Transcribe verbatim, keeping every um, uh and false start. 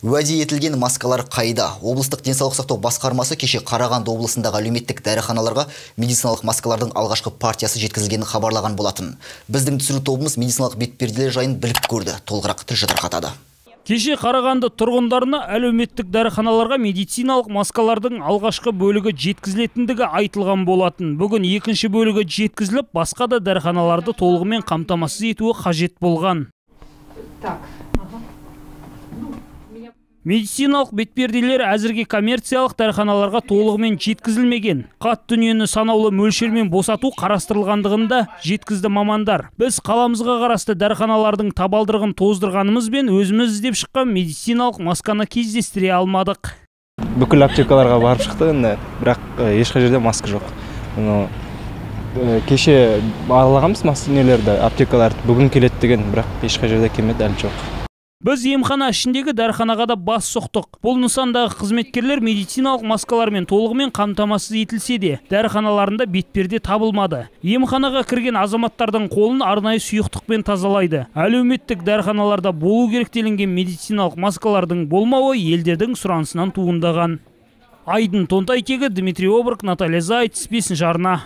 Уәде етілген маскалар қайда? Облыстық денсаулық сақтау басқармасы кеше Қарағанды облысындағы әлеуметтік дәріханаларға медициналық маскалардың алғашқы партиясы жеткізілгенін хабарлаған болатын. Біздің түсіру тобымыз медициналық бетперделер жайын біліп көрді. Толығырақ тілші тарқатады. Кеше Қарағанды тұрғындарына әлеуметтік дәріханаларға медициналық маскалардың алғашқы бөлігі жеткізілетіндігі айтылған болатын. Бүгін екінші бөлігі жеткізіліп, басқа да дәріханаларды толығымен қамтамасыз етуі қажет болған. Медициналық бетперделер әзірге коммерциялық дәріханаларға толығымен жеткізілмеген. Қат дүниені санаулы мөлшермен босату қарастырылғандығында жеткізді мамандар. Біз қаламызға қарасты дәріханалардың табалдырығын тоздырғанымызбен өзіміз іздеп шыққан медициналық масканы кездестіре алмадық. Бүкіл аптекаларға барып шықты, бірақ ешқай жерде маска жоқ. Кеше аралағанбыз маскаларды, аптекаларды бүгін келеді деген, бірақ ешқай жерде келмеді, әлі жоқ. Біз емхана ішіндегі дәріханаға да бас соқтық. Бұл нысандағы қызметкерлер медициналық маскалармен толығымен қамтамасыз етілсе де, дәріханаларында бетперде табылмады. Емханаға кірген азаматтардың қолын арнайы сұйықтықпен тазалайды. Әлеуметтік дәріханаларда болу керек делінген медициналық маскалардың болмауы елдердің сұранысынан туындаған. Айдын Тонтайтегі, Дмитрий Обрық, Наталья Зайц, бесінші арна.